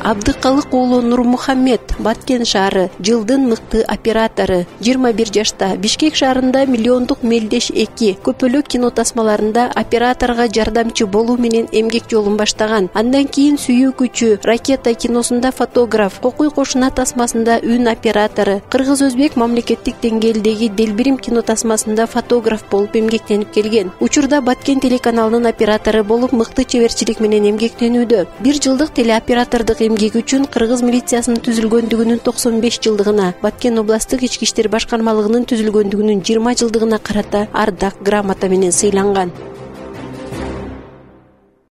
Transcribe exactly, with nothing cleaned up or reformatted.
Абдыкалык уулу Нурмухаммед, Баткен шаары, жылдын мыкты оператору. жыйырма бир жашта Бишкек шаарында миллиондук Мелдеш эки көпөлөк кино тасмаларында операторго жардамчы болуу менен эмгек жолун баштаган. Андан кийин Сүйүү күчү, Ракета киносунда фотограф, Кокуй кошуна тасмасында үн оператору, Кыргыз-Өзбек мамлекеттик деңгээлдеги Делбирим кино тасмасында фотограф болуп эмгектенип келген. Учурда Баткен телеканалынын оператору болуп мыкты чеберчилик менен эмгектенүүдө. Бир жылдык телеоператордук эмгеги үчүн Кыргыз милициясынын түзүлгөндүгүнүн токсон беш жылдыгына, Баткен областтык ички иштер башкармалыгынын түзүлгөндүгүнүн жыйырма жылдыгына карата ардак грамота менен сыйланган.